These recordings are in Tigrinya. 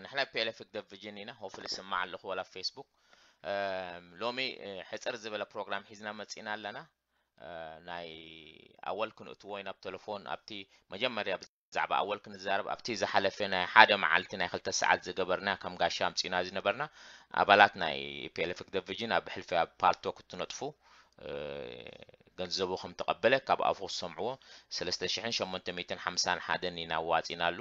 ንሕና ፒኤልኤፍ ህግደፍ ቪዥን ኢና። ሆፍሊ ስማዕ ኣለኹ ወላ ኣብ ፌስቡክ። ሎሚ ሕፅር ዝበለ ፕሮግራም ሒዝና መፂና ኣለና። ናይ ኣወል ክንእትዎ ኢና ብቴሌፎን። ኣብቲ መጀመርያ ብዛዕባ ኣወል ክንዛረብ ኣብቲ ዝሓለፈ ናይ ሓደ መዓልቲ ናይ ክልተ ሰዓት ዝገበርና ከም ጋሻ ኣምፂና ዝነበርና ኣባላት ናይ ፒኤልኤፍ ህግደፍ ቪዥን ኣብ ብሕልፊ ኣብ ፓልቶክ እትነጥፉ ገንዘቡ ከም ተቐበለ ካብ ኣፉ ክሰምዕዎ ሰለስተ ሽሕን ሸሞንተ ሚእትን ሓምሳን ሓደን ኢና ኣዋፂናሉ።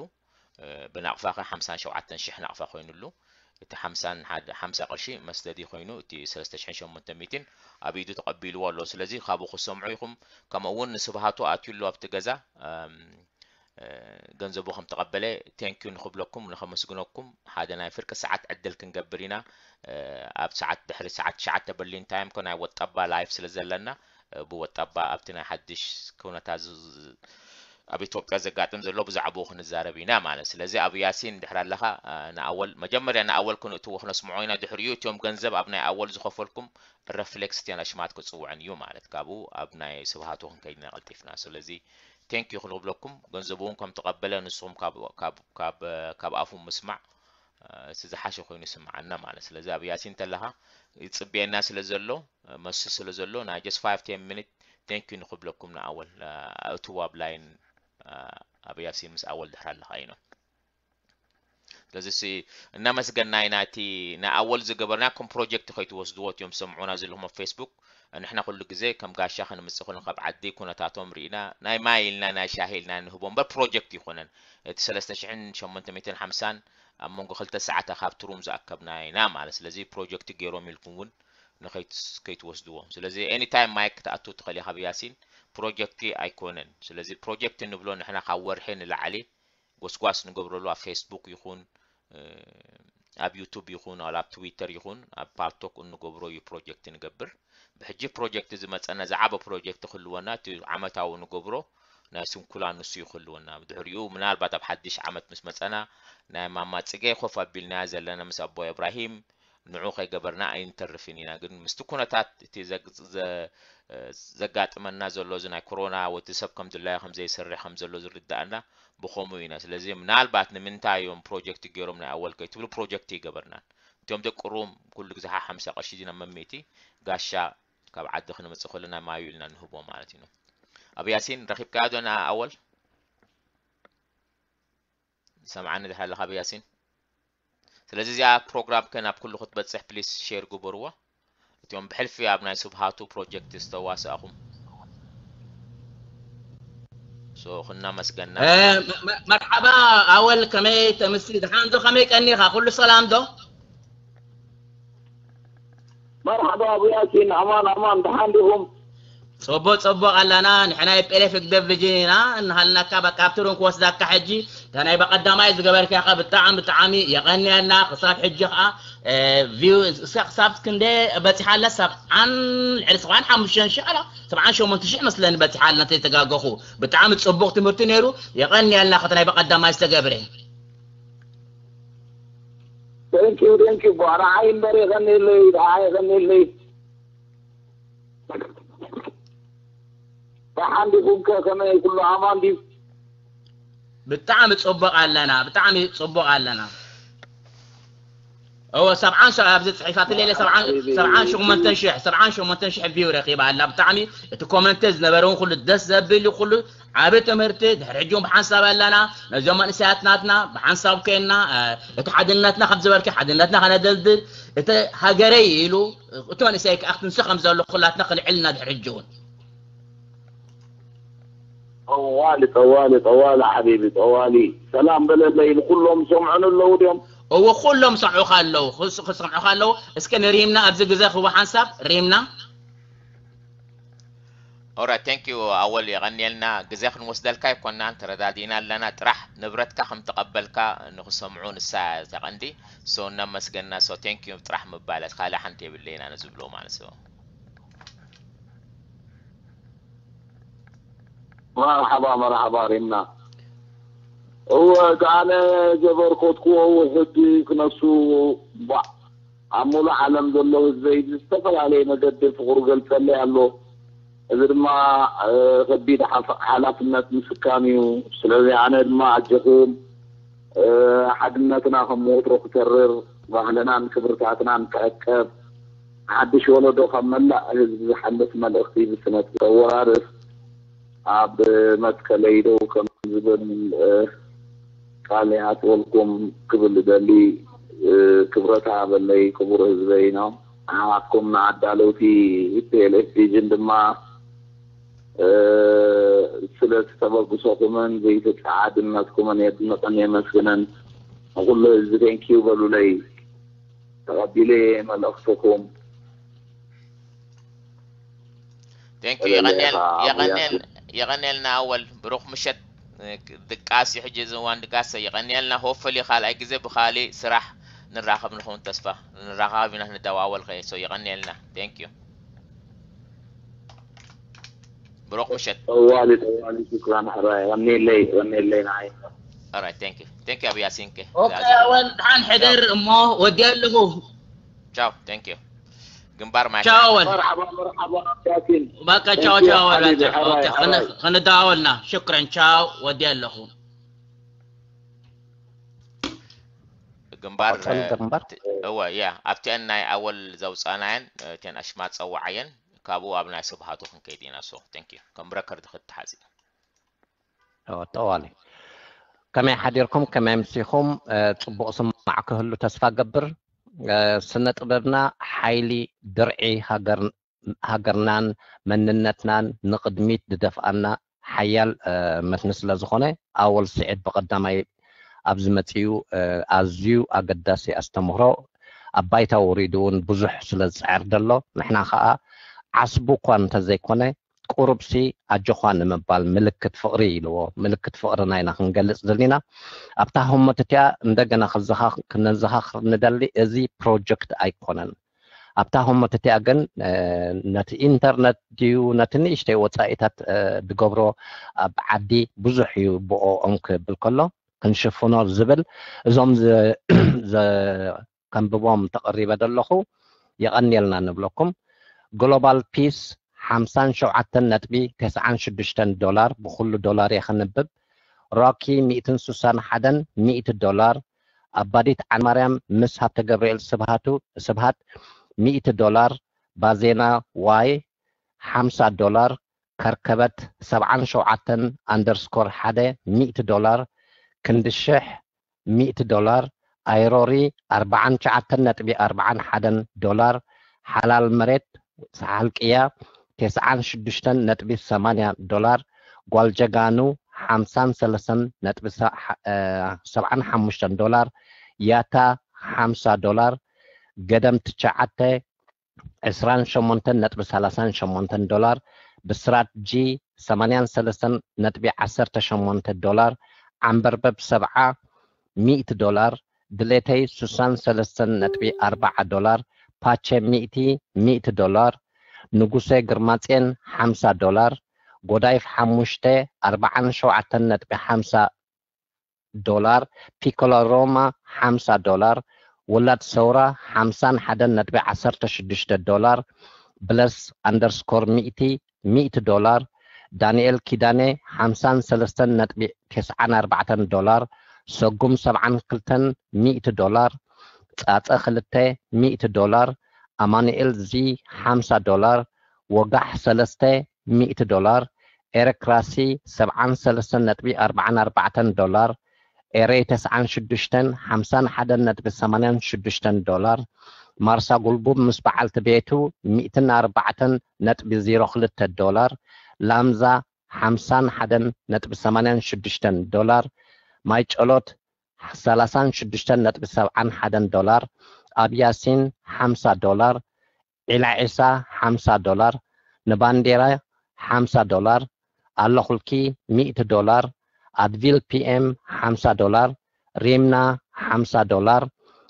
ብናቕፋ ከ ሓምሳን ሸውዓተን ሽሕ ናቕፋ ኮይኑሉ። እቲ ሓምሳን ሓደ ሓምሳ ቅርሺ መስደዲ ኮይኑ እቲ ሰለስተ ሽሕን ሸሞንተ ሚእትን ኣብ ኢዱ ተቐቢልዎ ኣሎ። ስለዚ ካብኡ ክሰምዑ ኢኹም። ከምኡ እውን ንስብሃቱ ኣትዩ ኣሎ ኣብቲ ገዛ ገንዘቡ ከም ተቐበለ ቴንኪዩ ንኽብለኩም ንኸመስግነኩም ሓደ ናይ ፍርቂ ሰዓት ዕድል ክንገብር ኢና። ኣብ ሰዓት ድሕሪ ሰዓት ትሽዓተ በርሊን ታይም ኮ ናይ ወጣባ ላይፍ ስለ ዘለና ብወጣባ ኣብቲ ናይ ሓድሽ ኩነታት ኣብ ኢትዮጵያ ዘጋጥም ዘሎ ብዛዕባኡ ክንዛረብ ኢና ማለት። ስለዚ ኣብ ያሲን ድሕር ኣለኻ ንኣወል መጀመርያ ንኣወል ክንእትዎ ክነስምዖ ኢና። ድሕሪኡ እቲኦም ገንዘብ ኣብ ናይ ኣወል ዝኸፈልኩም ረፍሌክስ እቲያን ኣሽማት ክፅውዕን እዩ ማለት። ካብኡ ኣብ ናይ ስብሃቱ ክንከይድ ኢና ቀልጢፍና። ስለዚ ቴንኪዩ ክንብለኩም ገንዘቡ እውን ከም ተቐበለ ንስኹም ካብ ኣፉ ምስማዕ እቲ ዝሓሸ ኮይኑ ይስምዓና ማለት። ስለዚ ኣብ ያሲን እንተለኻ ይፅብየና ስለ ዘሎ መሲ ስለ ዘሎ ናይ just five ten minute ቴንኪዩ ንክብለኩም ንኣወል ኣእትዎ ኣብ ላይን ኣብ ያሲን ምስ ኣወል ድሕር ኣለኻ እዩ ነው። ስለዚ ሲ እናመስገና ኢና። እቲ ንኣወል ዝገበርናኩም ፕሮጀክት ከይትወስድዎ እቲኦም ዝሰምዑና ዘለኹም ኣብ ፌስቡክ ንሕና ኩሉ ግዜ ከም ጋሻ ክንምፅእ ኩሉ ካብ ዓዲ ኩነታቶም ርኢና ናይ ማይ ኢልና ናይ ሻሂ ኢልና ንህቦ እምበር ፕሮጀክት ይኮነን። እቲ ሰለስተ ሽሕን ሸሞንተ ሚእትን ሓምሳን ኣብ መንጎ ክልተ ሰዓታ ካብቲ ሩም ዝኣከብና ኢና ማለት። ስለዚ ፕሮጀክት ገይሮም ኢልኩም እውን ንኸይትወስድዎ። ስለዚ ኤኒታይም ማይክ ክትኣቱ ትኽእል ኢኻ ብያሲን ፕሮጀክቲ ኣይኮነን። ስለዚ ፕሮጀክት ንብሎ ንሕና ካብ ወርሒ ንላዕሊ ጎስጓስ ንገብረሉ ኣብ ፌስቡክ ይኹን ኣብ ዩቱብ ይኹን ኣብ ትዊተር ይኹን ኣብ ፓልቶክ እንገብሮ እዩ ፕሮጀክት ንገብር። ብሕጂ ፕሮጀክት ዝመፀና ዝዓበ ፕሮጀክት ክህልወና እቲ ዓመታዊ ንገብሮ ናይ ስንኩላ ንሱ እዩ ክህልወና። ብድሕሪኡ ምናልባት ኣብ ሓድሽ ዓመት ምስ መፀና ናይ ማማ ፅገ ኮፍ ኣቢልናያ ዘለና ምስ ኣቦ እብራሂም ንዑ ከይገበርና ኣይንተርፍን ኢና። ግን ምስቲ ኩነታት እቲ ዘጋጥመና ዘሎ እዚ ናይ ኮሮና ወዲ ሰብ ከም ድላዮ ከም ዘይሰርሕ ከም ዘሎ ዝርዳእና ብኸምኡ ኢና። ስለዚ ምናልባት ንምንታይ እዮም ፕሮጀክት ገይሮም ናይ ኣወል ከይትብሉ ፕሮጀክት ይገበርናን እቲኦም ደቂ ሩም ኩሉ ግዜ ሓምሳ ቅርሺ ዲና መሚእቲ ጋሻ ካብ ዓዲ ክንመፅእ ከለና ማዩ ኢልና ንህቦ ማለት እዩ። ኣብ ያሲን ረኺብካዮ ዶ ንኣወል? ሰምዓኒ ድሓ ኣለኻ ብያሲን? ስለዚ እዚኣ ፕሮግራም ከ ናብ ኩሉ ክትበፅሕ ፕሊስ ሼር ግበርዎ። እቲኦም ብሕልፊ ኣብ ናይ ስብሃቱ ፕሮጀክት ዝተዋሳእኹም ሶ ክናመስገና። መርሓባ ኣወል፣ ከመይ ተምሲ? ድሓን ዶ ከመይ ቀኒኻ? ኩሉ ሰላም ዶ? መርሓባ ኣቡ ያሲን፣ ኣማን ኣማን፣ ደሓን ዲኹም? ጽቡቕ ጽቡቕ ኣለና። ንሕና የፔሌፍ ህግደፍ ቪጅን ኢና። እንሃልናካ በቃ ኣብቲ ሩም ክወስዳካ ሕጂ። እታ ናይ በቐዳማይ ዝገበርካኻ ብጣዕሚ ብጣዕሚ የቐንየልና። ክሳብ ሕጂ ኸኣ ቪው ክሳብ ክንደ በጺሓ ኣላ? ሰብዓን ልዕሊ ሰብዓን ሓሙሽተን ሽሕ ኣላ፣ ሰብዓን ሸሞንተ ሽሕ መስለኒ በጺሓ ኣላ እንተይተጋገኹ። ብጣዕሚ ጽቡቕ ትምህርቲ ነይሩ። የቐንየልና። ከቲ ናይ በቐዳማይ ዝተገብረ። Thank you, thank you. ቧ ንዓይ እምበር የቐንየለይ፣ ንዓይ የቐንየለይ። ደሓን ዲኹም ከ? ከመይ ኩሉ ኣማን ድዩ? ብጣዕሚ ጽቡቕ ኣለና፣ ብጣዕሚ ጽቡቕ ኣለና። እወ፣ ሰብዓን ሸ-፣ ኣብዚ ጽሒፋትለይ ኣላ፣ ሰብዓን፣ ሓቢቢ። ሰብዓን ሸሞንተን ሽሕ፣ ሰብዓን ሸሞንተን ሽሕ ቪው ረኺባ ኣላ። ብጣዕሚ እቲ ኮመንት ዝነበረ እውን ኩሉ ደስ ዘብል እዩ፣ ኩሉ ዓቢ ትምህርቲ። ድሕሪ ሕጂ እውን ብሓንሳብ ኣለና፣ ነዞም መንእሰያት ናትና ብሓንሳብ ኮይንና፣ እ፣ እቲ ሓድነትና ከም ዝበልኪ ሓድነትና ከነደልድል፣ እቲ ሃገረይ ኢሉ፣ እቲ መንእሰይ ከኣ ክንሲ ከም ዘሎ ኩላትና ክንዕል ኢና ድሕሪ ሕጂ እውን። ጠዋሊ፣ ጠዋሊ፣ ጠዋሊ ሓቢቢ፣ ጠዋሊ። ሰላም በለለይ፣ ንኩሎም ሰምዑን ኣለዉ ድዮም? እወ፣ ኩሎም ሰምዑኻ ኣለዉ፣ ክስ-፣ ክሰምዑኻ ኣለዉ። እስከ ንሪምና ኣብዚ ግዜ ክቡ ሓንሳብ ሪምና። ኦራይት፣ ቴንክ ዩ ኣወል፣ የቐንየልና። ግዜ ክንወስደልካ ኣይኮናን፣ ተረዳዲእና ኣለና። ጥራሕ ንብረትካ ከም ተቐበልካ ንኽሰምዑ ንሳ እያ እታ ቀንዲ። ሶ እናመስገንና፣ ሶ ቴንክ ዩ ጥራሕ ምባል፣ ካልእ ሓንቲ የብለይና ንዝብሎ ማለት ሶ። መርሓባ፣ መርሓባ ሪምና። እወ፣ እቲ ኣነ ዘበርከትክዎ ውሑድ ክነሱ፣ ቧዕ፣ ኣብ ሙሉእ ዓለም ዘለዉ ህዝበይ ብዝተፈላለየ መገዲ ፍቕሩ ገልጸለይ ኣሎ። እዚ ድማ፣ እ፣ ከቢድ ሓፍ-፣ ሓላፍነት ምስካም እዩ። ስለዚ ኣነ ድማ ኣጀኹም፣ ሓድነትና ከም ወትሮ ክተርር፣ ባህልናን ክብርታትናን ክዕቀብ፣ ሓድሽ ወለዶ ካብ መላእ ህዝቢ ዝሓልፍ መልእኽቲ ብስነ ተወራርስ ኣብ መትከለይ ደው ከም ዝብል ቃል ይሃትወልኩም ክብል እደሊ። ክብረት ሃበለይ ክቡር ህዝበይ ነው። ንዓኹም ንኣዳለውቲ ፒኤልኤፍ ቪዥን ድማ ስለቲ ተበግሶኹምን ዘይተጻዓድነትኩምን የድንቕን የመስግንን። ንኹሉ ህዝቢ ቴንኪዩ በሉለይ። ተቐቢለ መልእኽትኹም። ቴንኪዩ። የቐንየልና ኣወል፣ ብሩኽ ምሸት። ድቃስ እዩ ሕጂ እዚ እዋን ድቃስ። የቐንየልና። ሆፕፈሊ ካልኣይ ግዜ ብካሊእ ስራሕ ንራኸብ ንኸውን ተስፋ። ንራኸብ ኢና፣ ንደዋወል ከ። ሶ የቐንየልና። ቴንኪዩ። ብሩኽ ምሸት። ጠዋሊ ጠዋሊ ሽኩራን ሕራይ። ቀንየለይ፣ ቀንየለይ ንዓይ። ኦራይት፣ ቴንኪዩ። ቴንኪዩ ኣብ ያሲንከ። ኦኬ ኣወል፣ ደሓን ሕደር እሞ ወዲያ ኣለኹ። ቻው፣ ቴንኪዩ። ግንባር ማይ። ቻው ኣወል። መርሓባ መርሓባ ያሲን። በቃ ቻው ቻው ኣወል። ኦኬ፣ ከነ- ከነደዋወልና። ሽክረን ቻው፣ ወዲያ ኣለኹ። ግንባር ቀጽል ግንባር። እወ ያ ኣብቲአን ናይ ኣወል ዘውፃናየን እተን ኣሽማት ፀዋዓየን ካብኡ ኣብ ናይ ስብሃቱ ክንከይድ ኢና። ሶ ቴንክ ዩ ከም ረከርድ ክትሓዚ ጠዋሊ ከመይ ሓዲርኩም? ከመይ ኣምሲኹም? ጽቡቕ ስማዕ ክህሉ ተስፋ ገብር። ስነ ጥበብና ሓይሊ ድርዒ ሃገርናን መንነትናን ንቕድሚት ዝደፍኣና ሓያል መትኒ ስለ ዝኾነ ኣወል ስዒድ ብቐዳማይ ኣብዚ መጺኡ ኣዝዩ ኣገዳሲ ኣስተምህሮ ኣብ ባይታ ወሪዱ እውን ብዙሕ ስለ ዝጽዕር ዘሎ ንሕና ኸኣ ዓስቡ እኳ እንተዘይኮነ ቁሩብሲ ኣጆኻ ንምባል ምልክት ፍቕሪ ኢልዎ። ምልክት ፍቕርና ኢና ክንገልጽ ደሊና። ኣብታ ህሞት እቲኣ እንደገና ክዘኻ- ክነዘኻኽር ንደሊ፣ እዚ ፕሮጀክት ኣይኮነን። ኣብታ ህሞት እቲኣ ግን ነቲ ኢንተርነት ድዩ ነቲ ንእሽተይ ወጻኢታት ዝገብሮ ኣብ ዓዲ ብዙሕ እዩ ብኦኦም ክብል ከሎ ክንሽፍኖ ዝብል እዞም ዘ- ዘ- ከንብቦም ተቐሪበ ዘለኹ የቐንየልና ንብለኩም። ግሎባል ፒስ ሓምሳን ሸውዓተን ነጥቢ ተስዓን ሽዱሽተን ዶላር ብኹሉ ዶላር እየ ከንብብ። ሮኪ ሚእትን ሱሳን ሓደን ሚእቲ ዶላር ኣባዲት ዓማርያም ምስ ሃብተ ገብርኤል ስብሃቱ ስብሃት ሚእቲ ዶላር ባዜና ዋይ ሓምሳ ዶላር ከርከበት ሰብዓን ሸውዓተን ኣንደርስኮር ሓደ ሚእቲ ዶላር ክንዲ ሽሕ ሚእቲ ዶላር ኣይሮሪ ኣርባዓን ትሽዓተን ነጥቢ ኣርባዓን ሓደን ዶላር ሓላል መሬት ሰሓል ቅያ ተስዓን ሽዱሽተን ነጥቢ ሰማንያ ዶላር ጓል ጀጋኑ ሓምሳን ሰለስተን ነጥቢ ሰብዓን ሓሙሽተን ዶላር ያታ ሓምሳ ዶላር ገደም ትሽዓተ ዕስራን ሸሞንተን ነጥቢ ሰላሳን ሸሞንተን ዶላር ብስራት ጂ ሰማንያን ሰለስተን ነጥቢ ዓሰርተ ሸሞንተ ዶላር ዓንበርበብ ሰብዓ ሚእቲ ዶላር ድሌተይ ሱሳን ሰለስተን ነጥቢ ኣርባዓ ዶላር ፓቸ ሚእቲ ሚእቲ ዶላር ንጉሰ ግርማጼን ሓምሳ ዶላር ጎዳይፍ ሓሙሽተ ኣርባዓን ሸውዓተን ነጥቢ ሓምሳ ዶላር ፒኮሎ ሮማ ሓምሳ ዶላር ውላድ ሰውራ ሓምሳን ሓደን ነጥቢ ዓሰርተ ሽዱሽተ ዶላር ብለስ ኣንደርስኮር ሚእቲ ሚእቲ ዶላር ዳንኤል ኪዳነ ሓምሳን ሰለስተን ነጥቢ ተስዓን ኣርባዕተን ዶላር ሰጉም ሰብዓን ክልተን ሚእቲ ዶላር ጻጸ ክልተ ሚእቲ ዶላር ኣማኑኤል ዚ ሓምሳ ዶላር ወጋሕ ሰለስተ ሚእቲ ዶላር ኤረክራሲ ሰብዓን ሰለስተን ነጥቢ ኣርባዓን ኣርባዕተን ዶላር ኤረይ ተስዓን ሽዱሽተን ሓምሳን ሓደን ነጥቢ ሰማንያን ሽዱሽተን ዶላር ማርሳ ጉልቡብ ምስ በዓልቲ ቤቱ ሚእትን ኣርባዕተን ነጥቢ ዜሮ ክልተ ዶላር ላምዛ ሓምሳን ሓደን ነጥቢ ሰማንያን ሽዱሽተን ዶላር ማይ ጨሎት ሰላሳን ሽዱሽተን ነጥቢ ሰብዓን ሓደን ዶላር ኣብ ያሲን ሓምሳ ዶላር ዒላ ዒሳ ሓምሳ ዶላር ንባንዴራ ሓምሳ ዶላር ኣለኹልኪ ሚእቲ ዶላር ኣድቪል ፒኤም ሓምሳ ዶላር ሪምና ሓምሳ ዶላር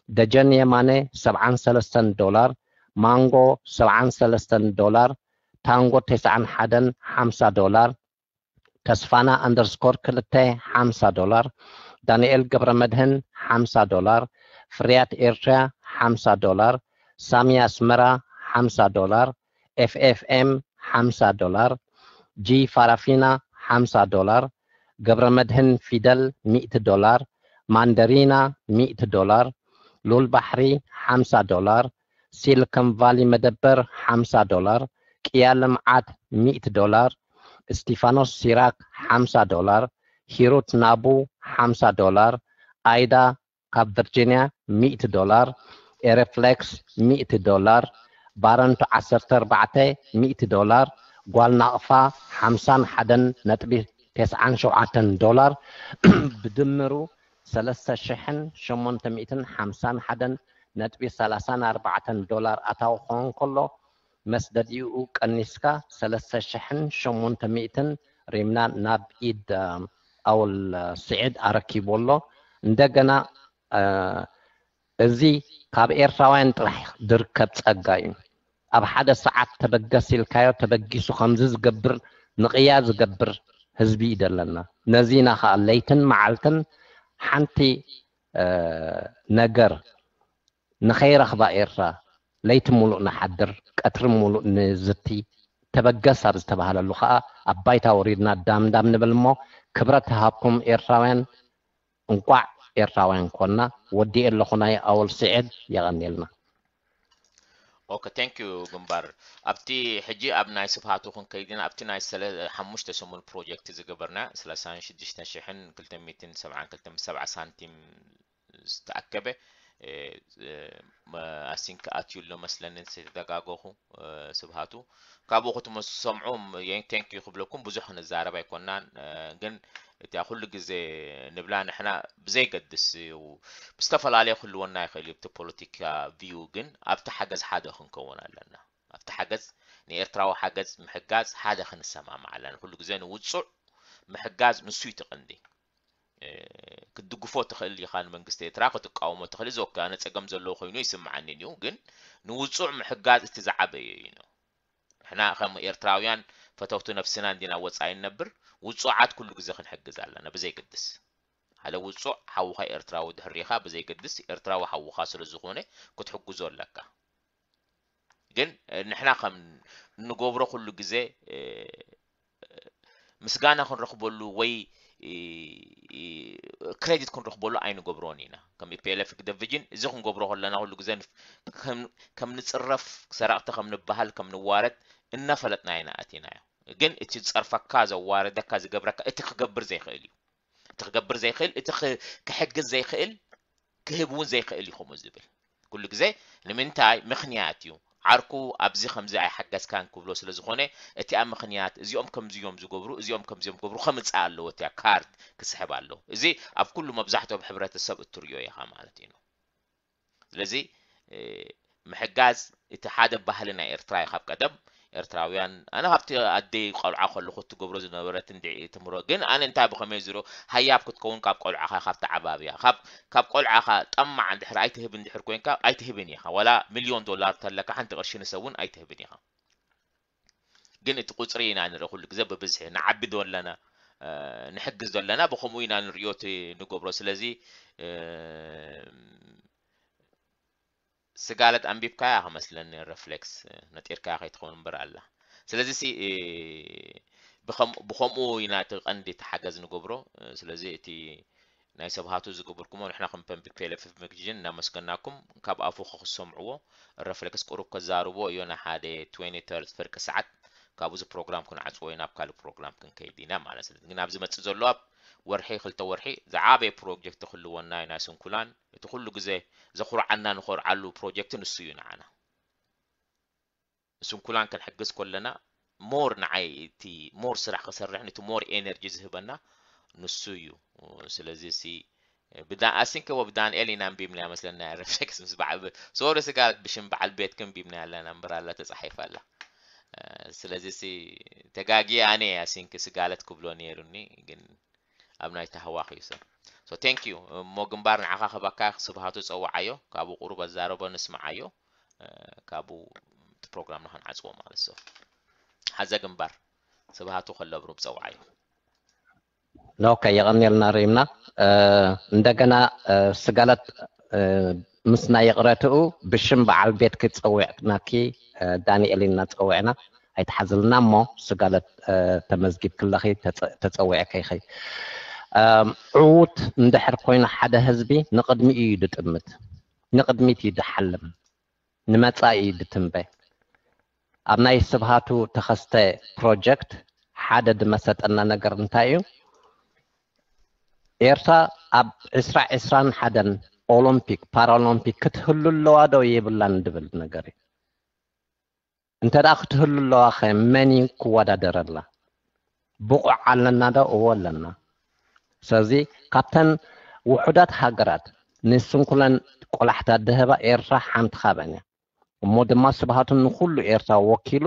ደጀን የማነ ሰብዓን ሰለስተን ዶላር ማንጎ ሰብዓን ሰለስተን ዶላር ታንጎ ተስዓን ሓደን ሓምሳ ዶላር ተስፋና ኣንደርስኮር ክልተ ሓምሳ ዶላር ዳንኤል ገብረ መድህን ሓምሳ ዶላር ፍርያት ኤርትራ ሓምሳ ዶላር ሳሚ ኣስመራ ሓምሳ ዶላር ኤፍኤፍኤም ሓምሳ ዶላር ጂ ፋራፊና ሓምሳ ዶላር ገብረ መድህን ፊደል ሚእቲ ዶላር ማንደሪና ሚእቲ ዶላር፣ ሉል ባሕሪ ሓምሳ ዶላር፣ ሲልከን ቫሊ መደበር ሓምሳ ዶላር፣ ቅያ ልምዓት ሚእቲ ዶላር፣ እስቲፋኖስ ሲራክ ሓምሳ ዶላር፣ ሂሩት ናቡ ሓምሳ ዶላር፣ ኣይዳ ካብ ቨርጂንያ ሚእቲ ዶላር፣ ኤረፍሌክስ ሚእቲ ዶላር፣ ባረንቱ ዓሰርተ ኣርባዕተ ሚእቲ ዶላር፣ ጓል ናቕፋ ሓምሳን ሓደን ነጥቢ ተስዓን ሸውዓተን ዶላር፣ ብድምሩ ሰለስተ ሽሕን ሸሞንተ ሚእትን ሓምሳን ሓደን ነጥቢ ሰላሳን ኣርባዕተን ዶላር ኣታዊ ክኸውን ከሎ፣ መስደዲኡ ቀኒስካ ሰለስተ ሽሕን ሸሞንተ ሚእትን ሪምና ናብ ኢድ ኣውል ስዒድ ኣረኪቡ ኣሎ። እንደገና እዚ ካብ ኤርትራውያን ጥራሕ ዝርከብ ጸጋ እዩ። ኣብ ሓደ ሰዓት ተበገስ ኢልካዮ ተበጊሱ ከምዚ ዝገብር ንቕያ ዝገብር ህዝቢ እዩ ዘለና። ነዚ ኢና ከኣ ለይትን መዓልትን ሓንቲ ነገር ንኸይረኽባ ኤርትራ ለይቲ ሙሉእ ንሓድር፣ ቀትሪ ሙሉእ ንዝቲ፣ ተበገስ ኣብ ዝተባህለሉ ከኣ ኣብ ባይታ ወሪድና ዳምዳም ንብል እሞ፣ ክብረት ሃብኩም ኤርትራውያን፣ እንቋዕ ኤርትራውያን ኮና። ወዲኤ ኣለኹ ናይ ኣወል ስዒድ፣ የቐንየልና። ኦኬ፣ thank you ግንባር። ኣብቲ ሕጂ ኣብ ናይ ስብሃቱ ክንከይድ ኢና። ኣብቲ ናይ ሰለ ሓሙሽተ ሰሙን ፕሮጀክት ዝገበርና ሰላሳን ሽዱሽተ ሽሕን ክልተ ሚእትን ሰብዓን ክልተን ሰብዓ ሳንቲም ዝተኣከበ ኣሲንክ ኣትዩ ኣሎ መስለኒ፣ ዝተጋገኹ ስብሃቱ። ካብኡ ክትሰምዑ፣ thank you ክብለኩም። ብዙሕ ክንዛረብ ኣይኮናን፣ ግን እቲኣ ኩሉ ግዜ ንብላ ንሕና ብዘይገድስ እዩ፣ ብዝተፈላለየ ክህልወና ይኽእል እዩ። እቲ ፖለቲካ ቪው ግን ኣብቲ ሓገዝ ሓደ ክንከውን ኣለና። ኣብቲ ሓገዝ ንኤርትራዊ ሓገዝ ምሕጋዝ ሓደ ክንሰማማዕ ኣለና። ኩሉ ግዜ ንውጹዕ ምሕጋዝ ንሱ እዩ እቲ ቀንዲ። ክትድግፎ ትኽእል ኢኻ ንመንግስቲ ኤርትራ፣ ክትቃወሞ ትኽእል። እዚ ኦኬ፣ ኣነ ጸገም ዘለዎ ኮይኑ ይስምዓኒ እዩ፣ ግን ንውጹዕ ምሕጋዝ እቲ ዝዓበየ እዩ። ንሕና ከም ኤርትራውያን ፈተውቲ ነፍስና እንዲና ወጻኢ ንነብር፣ ውጹዓት ኩሉ ግዜ ክንሕግዝ ኣለና ብዘይገድስ። ሓደ ውጹዕ ሓውኻ ኤርትራዊ ድሕሪኻ ብዘይገድስ ኤርትራዊ ሓውኻ ስለ ዝኾነ ክትሕግዞ ኣለካ። ግን ንሕና ከም ንገብሮ ኩሉ ግዜ ምስጋና ክንረኽበሉ ወይ ክሬዲት ክንረኽበሉ ኣይንገብሮን ኢና። ከም ኢፒኤልኤፍ ግደፍ ቪጅን እዚ ክንገብሮ ከለና ኩሉ ግዜ ከም ንጽረፍ፣ ሰረቕቲ ከም ንበሃል፣ ከም ንዋረድ እናፈለጥና ኢና ኣቲናዮ። ግን እቲ ዝጸርፈካ፣ ዘዋረደካ፣ ዝገብረካ እቲ ክገብር ዘይክእል እዩ። እቲ ክገብር ዘይክእል፣ እቲ ክሕግዝ ዘይክእል፣ ክህብ እውን ዘይክእል እዩ ከምኡ ዝብል። ኩሉ ግዜ ንምንታይ? ምኽንያት እዩ። ዓርኩ ኣብዚ ከምዚ ኣይሓገዝካን ክብሎ ስለ ዝኾነ፣ እቲኣ ምኽንያት፣ እዚኦም ከምዚ እዮም ዝገብሩ፣ እዚኦም ከምዚ እዮም ክገብሩ ከምጽእ ኣለዎ፣ እቲኣ ካርድ ክስሕብ ኣለዎ። እዚ ኣብ ኩሉ መብዛሕትኦም ሕብረተሰብ እትርእዮ ኢኻ ማለት እዩ። ስለዚ ምሕጋዝ እቲ ሓደ ባህሊ ናይ ኤርትራ እዩ። ካብ ቀደም ኤርትራውያን፣ ኣነ ካብቲ ኣደይ ቆልዓ ከለኹ እትገብሮ ዝነበረት እንድዒ ትምህሮ፣ ግን ኣነ እንታይ ብኸመይ ዝሮ ሃያብ ክትከውን ካብ ቆልዓኻ፣ ካብ ተዓባብያ፣ ካብ ካብ ቆልዓኻ ጠማዕ እንድሕር ኣይትህብ እንድሕር ኮንካ ኣይትህብን ኢኻ። ዋላ ሚልዮን ዶላር ተለካ ሓንቲ ቅርሺ ንሰብ እውን ኣይትህብን ኢኻ። ግን እቲ ቁጽሪ ኢና ንርኢ ኩሉ ግዜ ብብዝሒ። ንዓቢ ዶ ኣለና፣ ንሕግዝ ዶ ኣለና፣ ብኸምኡ ኢና ንርእዮ እቲ ንገብሮ። ስለዚ ስጋለት ኣንቢብካያ ክመስለኒ፣ ረፍሌክስ ነጢርካያ ከይትኸውን እምበር ኣላ። ስለዚ ሲ ብኸምኡ ኢና እቲ ቀንዲ እቲ ሓገዝ ንገብሮ። ስለዚ እቲ ናይ ሰብሃቱ ዝገበርኩሞ ንሕና ከም ፐብሊክ ቴሌቪዥን እናመስገናኩም፣ ካብ ኣፉ ክሰምዕዎ። ረፍሌክስ ቁሩብ ከዛርቦ እዮ፣ ንሓደ ትዌንቲ ተርቲ ፍርቂ ሰዓት፣ ካብኡ እዚ ፕሮግራም ክንዓጽዎ ኢና፣ ናብ ካልእ ፕሮግራም ክንከይድ ኢና ማለት። ስለዚ ግን ኣብዚ መጽእ ዘሎ ኣብ ወርሒ ክልተ ወርሒ ዝዓበየ ፕሮጀክት ክህልወና እዩ፣ ናይ ስንኩላን። እቲ ኩሉ ግዜ ዘኹርዓና፣ ንኾርዓሉ ፕሮጀክት ንሱ እዩ ንዓና። ስንኩላን ክንሕግዝ ከለና ሞር ንዓይ እቲ ሞር ስራሕ ክሰርሕን እቲ ሞር ኤነርጂ ዝህበና ንሱ እዩ። ስለዚ ሲ ብዳ ኣሲንከ ወብ ዳንኤል ኢና ኣንቢብና መስለና፣ ረፍሌክስ ምስ በዓል ቤት፣ ሶሪ ስጋ፣ ብሽም በዓል ቤትክ ኣንቢብና ኣለና እምበር ኣላ ተጻሒፋ ኣላ። ስለዚ ሲ ተጋጊ ኣነ ኣሲንክ ስጋለት ክብሎ ነይሩኒ፣ ግን ኣብ ናይ ታህዋኽ እዩ ሰብ። So thank you እሞ ግንባር ንዓኻ ክህበካ፣ ስብሃቱ ጸውዓዮ፣ ካብኡ ቁሩብ ኣዛረቦ ንስምዓዮ፣ ካብኡ እቲ ፕሮግራምና ክንዓጽዎ ማለት። So ሓዘ ግንባር፣ ስብሃቱ ከሎ ብሩብ ጸውዓዮ። ኦኬ፣ የቐንየልና ሪምና። እንደገና ስጋለት ምስ ናይ ይቕረትኡ ብሽም በዓል ቤትኪ ጸዊዕናኪ፣ ዳንኤል ኢልና ጸዊዕና፣ ኣይትሓዝልና እሞ ስጋለት ተመዝጊብኪ ኣለኺ፣ ተጸዊዕኪ ኢኺ። ዕዉት እንድሕር ኮይኑ ሓደ ህዝቢ ንቕድሚኡ እዩ ድጥምት፣ ንቕድሚት እዩ ድሓልም፣ ንመጻኢ እዩ ድትንበ። ኣብ ናይ ስብሃቱ ተኸስተ ፕሮጀክት ሓደ ድመሰጠና ነገር እንታይ እዩ? ኤርትራ ኣብ ዕስራ ዕስራን ሓደን ኦሎምፒክ ፓራኦሎምፒክ ክትህሉ ኣለዋ ዶ የብላን ድብል ነገር እዩ። እንተ ደኣ ክትህሉ ኣለዋ ኸ መን እዩ ክወዳደረላ? ብቑዕ ኣለና ዶ? እዎ ኣለና። ስለዚ ካብተን ውሑዳት ሃገራት ንስንኩለን ቆላሕታ ድህባ ኤርትራ ሓንቲ ካብአን እያ። እሞ ድማ ስብሃቱ ንኹሉ ኤርትራ ወኪሉ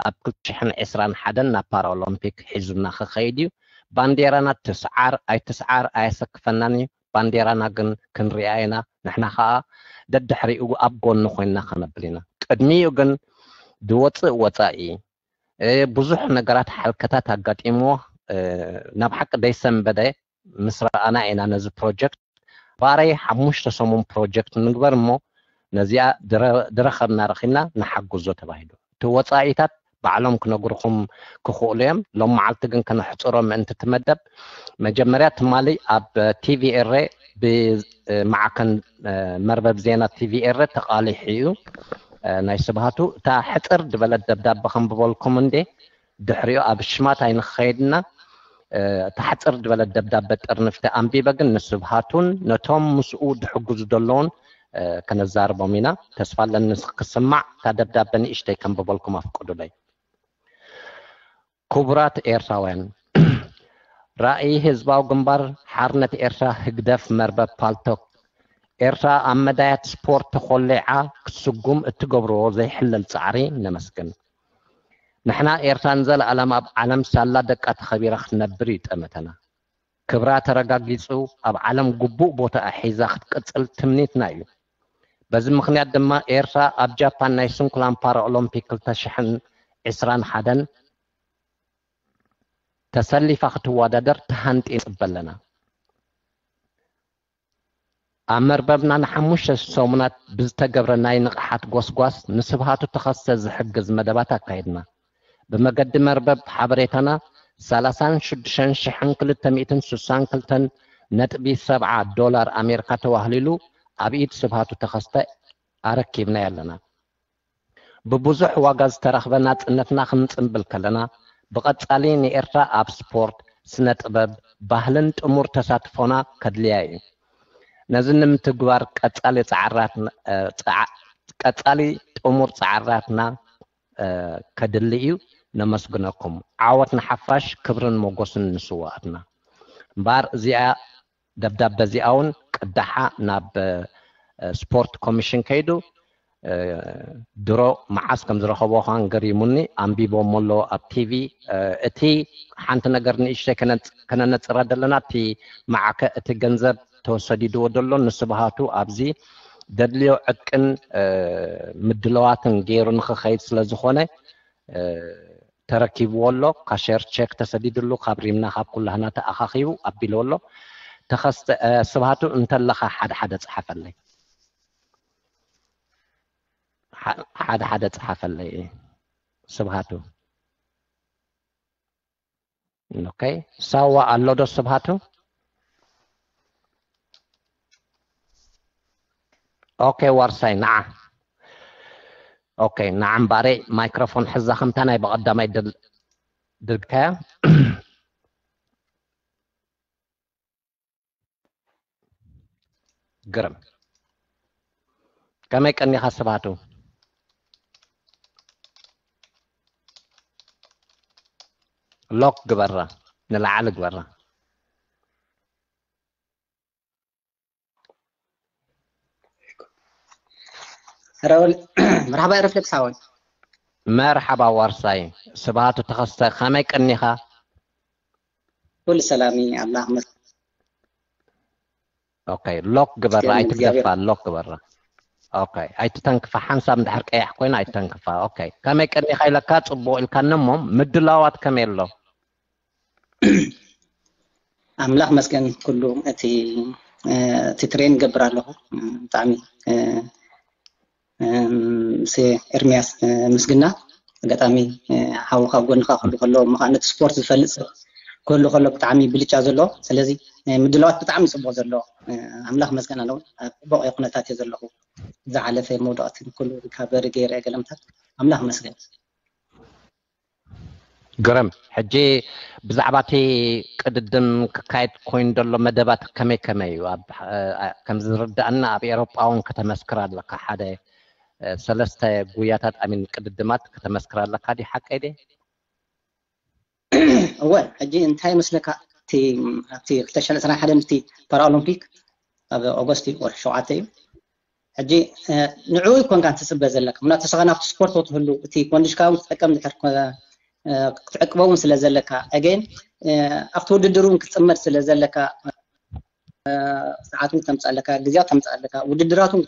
ኣብ ክልተ ሽሕን ዕስራን ሓደን ናብ ፓራኦሎምፒክ ሒዙና ክኸይድ እዩ። ባንዴራና ትስዓር ኣይትስዓር ኣየሰክፈናን እዩ። ባንዴራና ግን ክንሪኣ ኢና። ንሕና ኸኣ ደድሕሪኡ ኣብ ጎኑ ኮይንና ከነብል ኢና። ቅድሚኡ ግን ዝወፅእ ወፃኢ ብዙሕ ነገራት ሓልከታት ኣጋጢምዎ ናብ ሓቂ ደይሰንበደ ምስ ረኣና ኢና ነዚ ፕሮጀክት ባረይ ሓሙሽተ ሰሙን ፕሮጀክት ንግበር እሞ ነዚኣ ድረኸብና ረኺብና ንሓግዞ ተባሂሉ። እቲ ወፃኢታት ባዕሎም ክነግርኹም ክኽእሉ እዮም። ሎም መዓልቲ ግን ከነሕፅሮ ምእንቲ ትመደብ መጀመርያ ትማሊ ኣብ ቲቪ ኤረ ብማዕከን መርበብ ዜና ቲቪ ኤረ ተቓሊሑ እዩ። ናይ ስብሃቱ እታ ሕፅር ዝበለት ደብዳበ ከንብበልኩም እንዴ ድሕሪኡ ኣብ ሽማት ኣይንኸይድና። እታ ሕፅር ዝበለት ደብዳበ ጥርንፍቲ ኣንቢበ ግን ንስብሃቱን ነቶም ምስኡ ድሕግዙ ዘለውን ከነዛርቦም ኢና። ተስፋ ኣለኒ ክስማዕ። እታ ደብዳበ ንእሽተይ ከንብበልኩም ኣፍቅዱለይ። ክቡራት ኤርትራውያን፣ ራእይ ህዝባዊ ግንባር ሓርነት ኤርትራ ህግደፍ መርበብ ፓልቶክ ኤርትራ ኣብ መዳያት ስፖርት ተኾሊዓ ክትስጉም እትገብርዎ ዘይሕለል ጻዕሪ ነመስግን። ንሕና ኤርትራ ንዘለኣለም ኣብ ዓለም ሳላ ደቃ ተኸቢራ ክትነብር እዩ ጠመተና። ክብራ ተረጋጊጹ ኣብ ዓለም ግቡእ ቦታኣ ሒዛ ክትቅጽል ትምኒትና እዩ። በዚ ምኽንያት ድማ ኤርትራ ኣብ ጃፓን ናይ ስንኩላን ፓራኦሎምፒክ ክልተ ሽሕን ዕስራን ሓደን ተሰሊፋ ክትወዳደር ተሃንጢ ንጽበ ኣለና። ኣብ መርበብና ንሓሙሽተ ሰሙናት ብዝተገብረ ናይ ንቕሓት ጎስጓስ ንስብሃቱ ተኸስተ ዝሕግዝ መደባት ኣካይድና። ብመገዲ መርበብ ሓበሬታና ሰላሳን ሽዱሽተን ሽሕን ክልተ ሚእትን ስሳን ክልተን ነጥቢ ሰብዓ ዶላር ኣሜሪካ ተዋህሊሉ ኣብ ኢድ ስብሃቱ ተኸስተ ኣረኪብናዮ ኣለና። ብብዙሕ ዋጋ ዝተረኽበ ናጽነትና ክንጽንብል ከለና፣ ብቐጻሊ ንኤርትራ ኣብ ስፖርት፣ ስነ ጥበብ፣ ባህልን ጥሙር ተሳትፎና ከድልያ እዩ። ነዚ ንምትግባር ቀጻሊ ጻዕራትና ቀጻሊ ጥሙር ጻዕራትና ከድሊ እዩ። ነመስግነኩም። ዓወት ንሓፋሽ፣ ክብርን ሞጎስን ንስዋኣትና። እምበኣር እዚኣ ደብዳበ እዚኣ እውን ቅዳሓ ናብ ስፖርት ኮሚሽን ከይዱ ድሮ መዓስ ከም ዝረኸቦ ኳን ገሪሙኒ። ኣንቢቦሞ ኣሎ ኣብ ቲቪ። እቲ ሓንቲ ነገር ንእሽተይ ከነነፅራ ዘለና እቲ መዓከ እቲ ገንዘብ ተወሰዲድዎ ዘሎ ንስብሃቱ ኣብዚ ደድልዮ ዕጥቅን ምድለዋትን ገይሩ ንክኸይድ ስለ ዝኾነ ተረኪብዎ ኣሎ። ካሸር ቼክ ተሰዲድሉ ካብ ሪምና ካብ ኩላህና ተኣኻኺቡ ኣቢልዎ ኣሎ። ተኸስተ ስብሃቱ እንተለኻ ሓደ ሓደ ፀሓፈለይ፣ ሓደ ሓደ ፀሓፈለይ ስብሃቱ። ኦኬ፣ ሳዋ ኣሎ ዶ ስብሃቱ? ኦኬ፣ ዋርሳይ ንዓ። ኦኬ፣ ንዓ እምበኣረይ ማይክሮፎን ሕዛ ከምታ ናይ ብቐዳማይ ድል ድርግካያ። ግርም። ከመይ ቀኒኻ ስብሃቱ? ሎክ ግበራ፣ ንላዕሊ ግበራ። መርሓባ ሪፍሌክስ ሓወይ። መርሓባ ዋርሳይ። ስብሃቱ ተኸስተ ከመይ ቀኒኻ? ኩሉ ሰላም እዩ፣ ኣምላኽ ይመስገን። ኦኬ፣ ሎክ ግበራ፣ ኣይትግደፋ፣ ሎክ ግበራ። ኦኬ፣ ኣይትተንክፋ፣ ሓንሳብ እንድሕር ቀያሕ ኮይና ኣይትተንክፋ። ኦኬ፣ ከመይ ቀኒኻ ኢለካ ጽቡቕ ኢልካኒ እሞ ምድላዋት ከመይ ኣሎ? ኣምላኽ መስገን ኩሉ እቲ እቲ ትሬን ገብር ኣለኹ። ብጣዕሚ ምስ ኤርሚያስ ምስግና ኣጋጣሚ ሓውኻ ጎንኻ ክህሉ ከሎ እሞ ከዓ ነቲ ስፖርት ዝፈልጥ ሰብ ክህሉ ከሎ ብጣዕሚ ብልጫ ዘሎ። ስለዚ ምድላዋት ብጣዕሚ ጽቡቕ ዘሎ፣ ኣምላኽ መስገን ኣለዎ። ኣብ ጽቡቕ ኩነታት እየ ዘለኹ። ዝሓለፈ መውደቕቲ ኩሉ ሪካቨሪ ገይረ ገለምታት ኣምላኽ መስገን። ግርም። ሕጂ ብዛዕባ እቲ ቅድድም ክካየድ ኮይኑ ዘሎ መደባት ከመይ ከመይ እዩ? ከም ዝርዳእና ኣብ ኤሮጳ እውን ከተመስክር ኣለካ። ሓደ ሰለስተ ጉያታት ኣሚን ቅድድማት ከተመስክር ኣለካ። ዲ ሓቀይ ደ? እወ፣ ሕጂ እንታይ ይመስለካ፣ እቲ ኣብቲ ክልተ ሽሕን ዕስራን ሓደን እቲ ፓራኦሎምፒክ ኣብ ኦገስት እዩ፣ ወርሒ ሸውዓተ እዩ። ሕጂ ንዕኡ ይኮንካ ትፅበ ዘለካ፣ ምክንያቱ ንስኻ ናብቲ ስፖርት ትህሉ፣ እቲ ኮንዲሽካ እውን ክትጠቀም ድሕር ክትዕቅበ እውን ስለ ዘለካ፣ ኣገን ኣብቲ ውድድር እውን ክትፅመድ ስለ ዘለካ፣ ሰዓት እውን ተምፅእ ኣለካ፣ ግዜያት ተምፅእ ኣለካ፣ ውድድራት እውን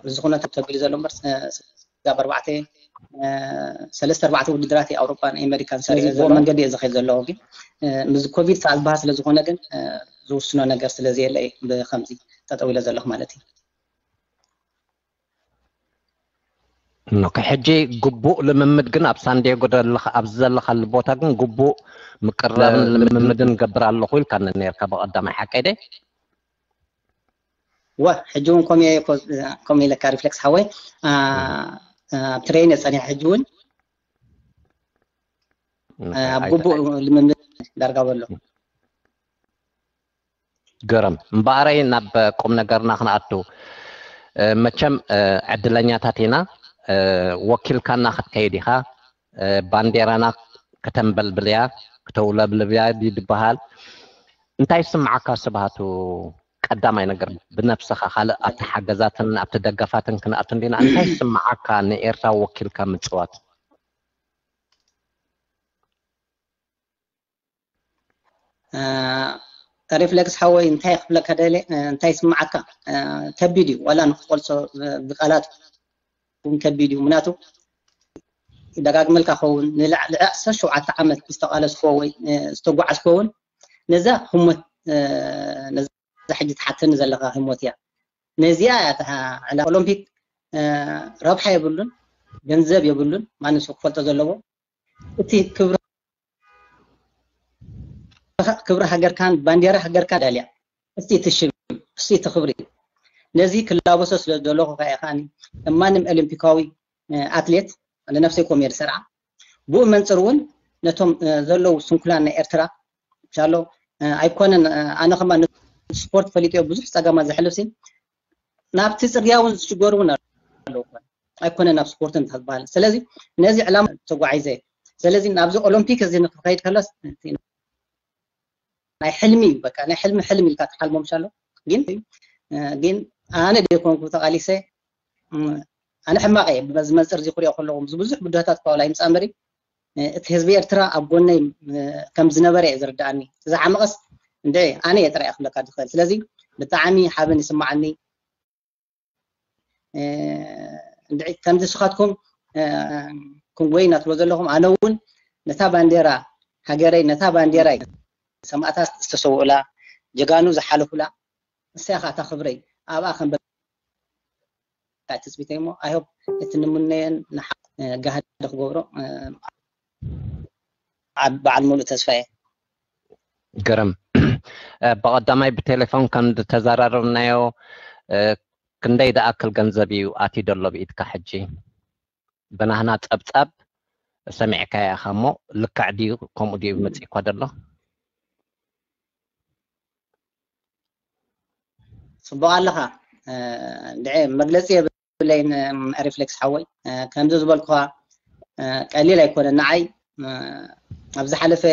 እዚ ኩነታት ተቢሉ ዘሎ እምበር ስጋብ ኣርባዕተ ሰለስተ ኣርባዕተ ውድድራት ኣውሮፓን ኣሜሪካን ሰሪዐ ዘሎ መንገዲ እየ ዝኸይድ ዘለኹ። ግን ምስ ኮቪድ ከዓ ዝበሃል ስለ ዝኾነ ግን ዝውስኖ ነገር ስለ ዘየለ ብከምዚ ጠጠው ኢለ ዘለኹ ማለት እዩ። ኦኬ፣ ሕጂ ግቡእ ልምምድ ግን ኣብ ሳንዲያጎ ዘለኻ ኣብዚ ዘለኻሉ ቦታ ግን ግቡእ ምቅራብን ልምምድን ገብር ኣለኹ ኢልካ ነርካ ብቐዳማይ ሓቀይ ደ? ወ ሕጂ እውን ከምኡ ኢለካ ሪፍሌክስ ሓወይ ኣብ ትሬን ጸኒሐ ሕጂ እውን ኣብ ግቡእ ልምምድ ዳርጋ በሎ። ግርም እምበኣረይ ናብ ቁም ነገርና ክንኣቱ። መቸም ዕድለኛታት ኢና። ወኪልካና ክትከይድ ኢኻ። ባንዴራና ከተንበልብል እያ፣ ክተውለብልብ እያ ድዩ ዝበሃል? እንታይ ይስምዓካ ስብሃቱ? ቀዳማይ ነገር ብነብስኻ፣ ካልእ ኣብቲ ሓገዛትን ኣብቲ ደገፋትን ክንኣቱ እንዲና፣ እንታይ ይስምዓካ ንኤርትራ ወኪልካ ምፅዋት? ሪፍሌክስ ሓወይ እንታይ ክብለካ ደለ እንታይ ይስምዓካ? ከቢድ እዩ፣ ዋላ ንክቆልሶ ብቃላት እውን ከቢድ እዩ። ምክንያቱ ደጋግመልካ ኸውን ንልዕሊ ዓሰርተ ሸውዓተ ዓመት ዝተቃለስኮ ወይ ዝተጓዓዝኮ እውን ነዛ ህሞት ነዛ ሕጂ ትሓተኒ ዘለካ ህሞት እያ። ነዚኣ እያ እታ ዕላማ። ኦሎምፒክ ረብሓ የብሉን፣ ገንዘብ የብሉን፣ ማንም ሰብ ክፈልጦ ዘለዎ። እቲ ክብሪ ክብሪ ሃገርካን ባንዴራ ሃገርካን ዳልያ እስቲ እቲ ሽም እስቲ እቲ ክብሪ ነዚ ክላበሶ ስለ ዘለኹ ከኣ ከኣኒ ማንም ኦሎምፒካዊ ኣትሌት ንነፍሰይ ኮም እየ ዝሰርዓ። ብኡ መንፅር እውን ነቶም ዘለዉ ስንኩላን ናይ ኤርትራ ሻሎ ኣይኮነን። ኣነ ከማ ስፖርት ፈሊጦ ብዙሕ ፀገማት ዘሕልፍ ሲ ናብቲ ፅርግያ እውን ዝሽገሩ እውን ኣለዉ ኣይኮነ ናብ ስፖርት እንተዝበሃል። ስለዚ ነዚ ዕላማ ተጓዒዘ። ስለዚ ናብዚ ኦሎምፒክ እዚ ንክኸይድ ከሎስ ናይ ሕልሚ እዩ። በቃ ናይ ሕልሚ ሕልሚ ኢልካ ትሓልሞ ምሻሎ ግን ግን ኣነ ደይኮንኩ ተቃሊሰ ኣነ ሕማቀ እየ በዚ መንፅር እዚ ክሪኦ ከለኹ ምስ ብዙሕ ብድሆታት እኳ ዋላ ይምፃእ እምበሪ እቲ ህዝቢ ኤርትራ ኣብ ጎነይ ከም ዝነበረ እየ ዝርድኣኒ። ዝሓመቐስ እንደ ኣነ እየ ጥራይ ክብለካ ዝኽእል። ስለዚ ብጣዕሚ ሓበን ይስማዓኒ። እንድዒ ከምዚ ስኻትኩም ክንጎይ እናትብሎ ዘለኹም ኣነ እውን ነታ ባንዴራ ሃገረይ ነታ ባንዴራይ ሰማእታት ዝተሰውኡላ ጀጋኑ ዝሓለፉላ እሳ ኢኻ እታ ክብረይ ኣብኣ ከም ትፅቢተይ እሞ ኣይሆፕ እቲ ንምነየን ንሓ ጋህዲ ክገብሮ በዓል ሙሉእ ተስፋ እየ። ግርም ብቐዳማይ ብቴሌፎን ከም ዝተዘራረብናዮ ክንደይ ዝኣክል ገንዘብ እዩ ኣትዩ ዘሎ ብኢድካ ሕጂ? ብናህና ጸብጻብ ሰሚዕካያ ኢኻ እሞ ልክዕ ድዩ ከምኡ ድዩ መጺእኳ ዘሎ? ጽቡቕ ኣለኻ። እንድዒ መግለጺ የብለይን ሪፍሌክስ ሓወይ። ከምዚ ዝበልኩኻ ቀሊል ኣይኮነን ንዓይ ኣብ ዝሓለፈ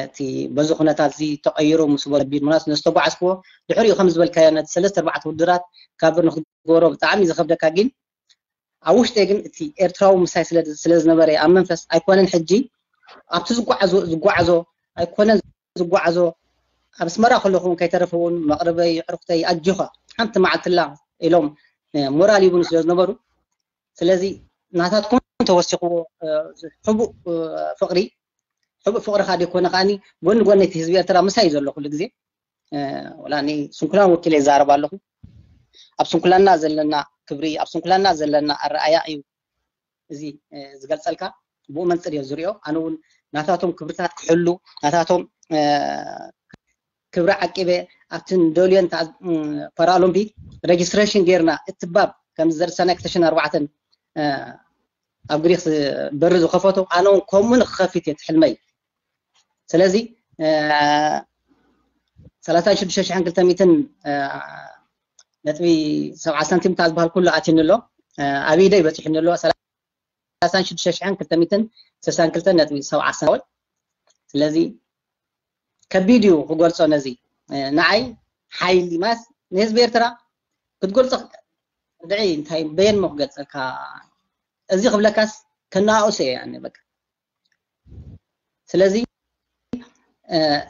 እቲ በዚ ኩነታት እዚ ተቐይሩ ምስ በሉ ከቢድ ምክንያቱ ነዝተጓዓዝክዎ ድሕሪኡ ከም ዝበልካዮ ነቲ ሰለስተ ኣርባዕተ ውድድራት ካብ ንክትገብሮ ብጣዕሚ እዩ ዝኸብደካ ግን ኣብ ውሽጠይ ግን እቲ ኤርትራዊ ምሳይ ስለ ዝነበረ ኣብ መንፈስ ኣይኮነን ሕጂ ኣብቲ ዝጓዓዞ ዝጓዓዞ ኣይኮነን ዝጓዓዞ ኣብ ኣስመራ ከለኹ እውን ከይተረፈ እውን መቕርበይ ዕርኩተይ ኣጆኻ ሓንቲ መዓልትላ ኢሎም ሞራል ይብኑ ስለ ዝነበሩ ስለዚ ናታትኩም ተወሲኽዎ ሕቡእ ፍቕሪ ሕቡእ ፍቕሪ ካ ደይኮነ ከዓኒ ጎኒ ጎኒ እቲ ህዝቢ ኤርትራ ምሳይ እዩ ዘሎ ኩሉ ግዜ ወላ ስንኩላን ወኪለ ይዛረብ ኣለኹ ኣብ ስንኩላና ዘለና ክብሪ ኣብ ስንኩላና ዘለና ኣረኣያ እዩ እዚ ዝገልፀልካ ብኡ መንፅር እዮ ዝሪኦ። ኣነ እውን ናታቶም ክብርታት ክሕሉ፣ ናታቶም ክብሪ ዓቂበ ኣብቲ ንደልዮን ፓራኦሎምፒክ ሬጅስትሬሽን ጌርና እትባብ ከምዚ ዘርሰናይ ክልተ ሽሕን ኣርባዕተን ኣብ ግሪክ በሪ ዝኸፈቱ ኣነ እውን ከምኡ ንክኸፊት እየ ትሕልመይ። ስለዚ ሰላሳን ሽዱሽተ ሽሕን ክልተ ሚእትን ነጥቢ ሰብዓ ሳንቲም ካብ ዝበሃል ኩሉ ኣትዩኒ ኣሎ። ኣብ ኢደይ በፂሑኒ ኣሎ። ሰላሳን ሽዱሽተ ሽሕን ክልተ ሚእትን ስሳን ክልተ ነጥቢ ሰብዓ ሳንቲም። ስለዚ ከቢድ እዩ ክገልጾ ነዚ። ንዓይ ሓይሊ ማስ ንህዝቢ ኤርትራ ክትገልጾ ድዒ እንታይ በየን ሞ ክገልጸልካ? እዚ ክብለካስ ከነኣኡስ እየ ያኔ በቃ። ስለዚ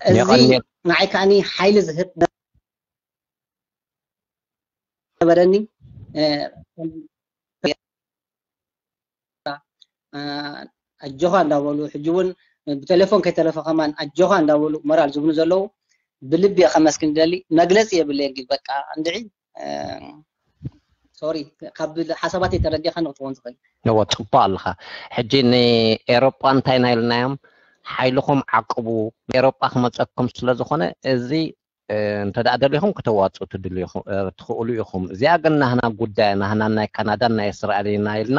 እዚ ንዓይ ከዓኒ ሓይሊ ዝህብ ነበረኒ። ኣጆኻ እንዳበሉ ሕጂ እውን ብቴሌፎን ከይተረፈ ከማን ኣጆኻ እንዳበሉ ሞራል ዝብሉ ዘለዉ ብልቢ እየ ከመስግን ደሊ። መግለፂ የብለይ ግን በቃ እንድዒ ሶሪ ካብ ሓሳባተይ ተረዲኻ ንክትኸውን ትኽእል። እዎ ጽቡቅ ኣለኻ። ሕጂ ንኤሮጳ እንታይ ኢና ኢልናዮም? ሓይልኹም ዓቅቡ፣ ኤሮጳ ክመጸኩም ስለ ዝኾነ እዚ እንተ ደኣ ደሊኹም ከተዋጽኡ ትድልዩ ኢኹ- እ፣ ትኽእሉ ኢኹም። እዚኣ ግን ናህና ጉዳይ፣ ናህና ናይ ካናዳን ናይ እስራኤልን ኢና ኢልና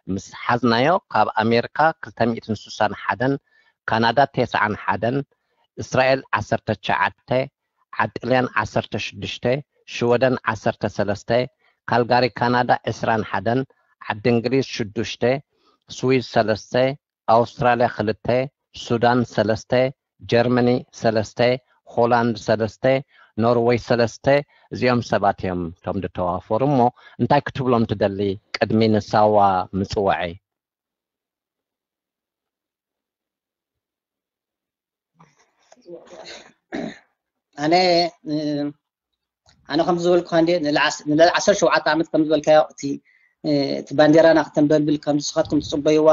ምስ ሓዝናዮ፣ ካብ ኣሜሪካ ክልተ ሚእትን ስሳን ሓደን፣ ካናዳ ተስዓን ሓደን፣ እስራኤል ዓሰርተ ትሽዓተ፣ ዓዲ ጥልያን ዓሰርተ ሽዱሽተ፣ ሽወደን ዓሰርተ ሰለስተ፣ ካልጋሪ ካናዳ ዕስራን ሓደን፣ ዓዲ እንግሊዝ ሽዱሽተ፣ ስዊዝ ሰለስተ፣ ኣውስትራልያ ክልተ፣ ሱዳን ሰለስተ፣ ጀርመኒ ሰለስተ፣ ሆላንድ ሰለስተ፣ ኖርወይ ሰለስተ፣ እዚኦም ሰባት እዮም እቶም ዝተዋፈሩ። እሞ እንታይ ክትብሎም ትደሊ ቅድሚ ንሳዋ ምጽዋዐይ? ኣነ ኣነ ከም ዝበልኩ እንደ ንልዓል ዓሰርተ ሸውዓተ ዓመት ከም ዝበልካዮ እቲ እቲ ባንዴራና ክተንበልብል ከም ዝስኻትኩም ትፅበይዋ